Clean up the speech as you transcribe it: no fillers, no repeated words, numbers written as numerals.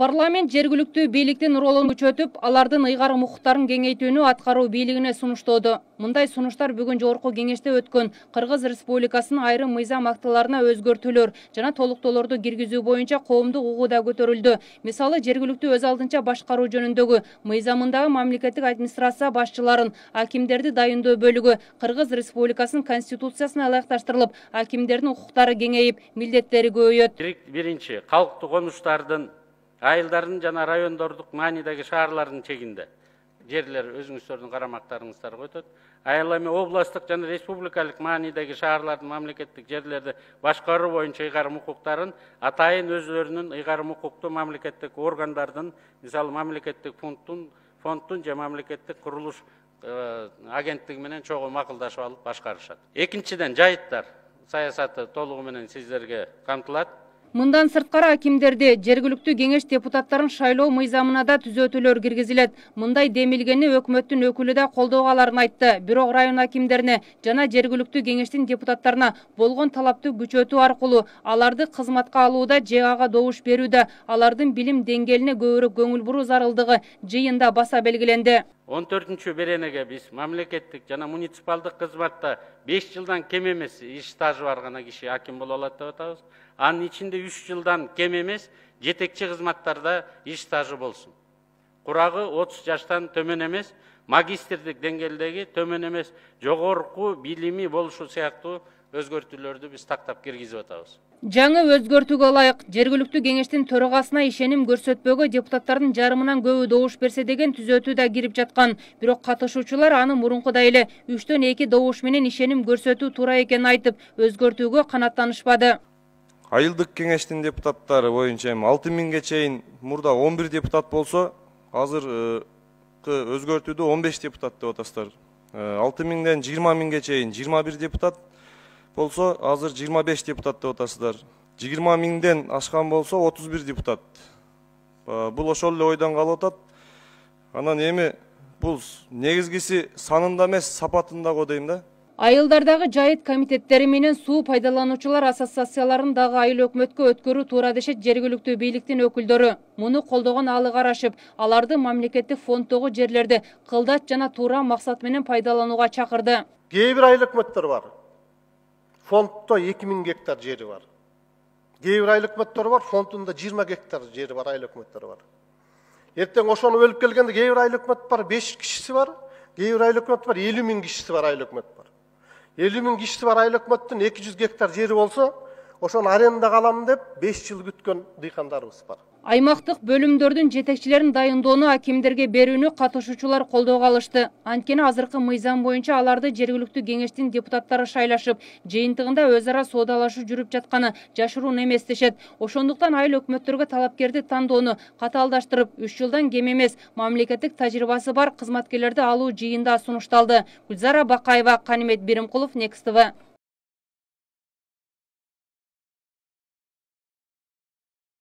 Парламент жергиликтүү бийликтин ролун күчөтүп, алардын ыйгарым укуктарын кеңейтүүнү аткаруу бийлигине сунуштоодо. Мындай сунуштар бүгүн жогорку кеңеште өткөн Кыргыз Республикасынын айрым мыйзам актыларына өзгөртүүлөр жана толуктоолорду киргизүү боюнча коомдук угуу да көтөрүлдү. Мисалы, жергиликтүү өз алдынча башкаруу жөнүндөгү мыйзамындагы мамлекеттик администрация башчыларын, акимдерди дайындоо бөлүгү Кыргыз Республикасынын конституциясына ылайыкташтырылып, акимдердин укуктары кеңейип, милдеттери көбөйөт. Биринчи, калктык конуштардын айылдардын жана райондордук маанидеги шаарлардын чегинде жерлер өзүңүздөрдүн карамактарыңыздарга өтөт. Ал эми областтык жана республикалык маанидеги шаарлардын мамлекеттик жерлерди башкаруу боюнча ыйгарым укуктарын атайын өзлөрүнүн ыйгарым укуктуу мамлекеттик органдардын, мисалы мамлекеттик фонддун же мамлекеттик курулуш агенттиги менен чогуу макулдашып алып башкарышат. Экинчиден, жайыттар саясаты толугу менен сиздерге камтылат. Мындан сырткары акимдерди, жергиликтүү кеңеш депутаттарын шайлоо мыйзамына да түзөтүүлөр киргизилет. Мындай демилгени өкмөттүн өкүлү да колдоо аларын айтты. Бирок район акимдерине жана жергиликтүү кеңештин депутаттарына болгон талапты күчөтүү аркылуу аларды кызматка алууда же ага добуш берүүдө алардын билим деңгээлине көбүрөөк көңүл буруу зарылдыгы жыйында баса белгиленди. 14 беренеге биз мамлекеттик жана муниципалдык кызматта 5 жылдан кем эмес иш стажы бар гана киши аким боло алат деп атабыз. Анын ичинде 3 жылдан кем эмес жетекчи кызматтарда иш стажы болсун. Курагы 30 жаштан төмөн эмес, магистрдик деңгээлдеги төмөн эмес, жогорку билими болушу сыяктуу өзгөртүүлөрдү биз тактап киргизип атабыз. Жаңы өзгөртүүгө ылайык жергиликтүү кеңештин төрагасына ишеним көрсөтпөгө депутаттардын жарымынан көбү добуш берсе деген түзөтүү да кирип жаткан. Бирок катышуучулар аны мурункудай эле 3-төн 2 добуш менен ишеним көрсөтүү туура экенин айтып, өзгөртүүгө канааттанышпады. Айылдык кеңештин депутаттары боюнча 6000ге чейин мурда 11 депутат болсо, азыр өзгөртүүдө 15 депутат деп атасыздар. 6000ден 20000ге чейин 21 депутат болсо, азыр 25 депутат деп атасыздар. 20000ден ашкан болсо 31 депутат. Бул ошол эле ойдон калып атат. Анан эми бул негизгиси санында эмес, сапатында го дейм да. Айылдардагы жайыт комитеттери менен суу пайдалануучулар ассоциацияларын дагы айыл өкмөткө өткөрүү туура дешет жергиликтүү бийликтин өкүлдөрү. Муну колдогон алы карашып, аларды мамлекеттик фонддогу жерлерди кылдач жана туура максат менен пайдаланууга чакырды. Кээ бир айыл өкмөттөр бар. Фонддо 2000 гектар жери бар. Кээ бир айыл өкмөттөр бар, фондунда 20 гектар жери бар айыл өкмөттөр бар. Эртең ошону бөлүп келгенде кээ бир айыл өкмөт бар, 5 кишиси бар, кээ бир айыл өкмөт бар, 50 000 кишиси бар айыл өкмөт бар. 50 000 кишиси бар айыл өкмөттүн 200 гектар жери болсо, ошону арендага аламын деп 5 жыл күткөн дыйкандарыбыз бар. Аймактык бөлүмдөрдүн жетекчилерин дайындоону акимдерге берүүнү катышуучулар колдоого алышты. Анткени азыркы мыйзам боюнча аларды жергиликтүү кеңештин депутаттары шайлашып, жыйынтыгында өз ара соодалашуу жүрүп жатканы жашыруун эмес дешет. Ошондуктан айыл өкмөттөргө талапкерди тандоону катаалдаштырып, 3 жылдан кем эмес мамлекеттик тажрыйбасы бар кызматкерлерди алуу жыйында сунушталды. Гүлзара Бакаева, Канимет Биримкулов, Next TV.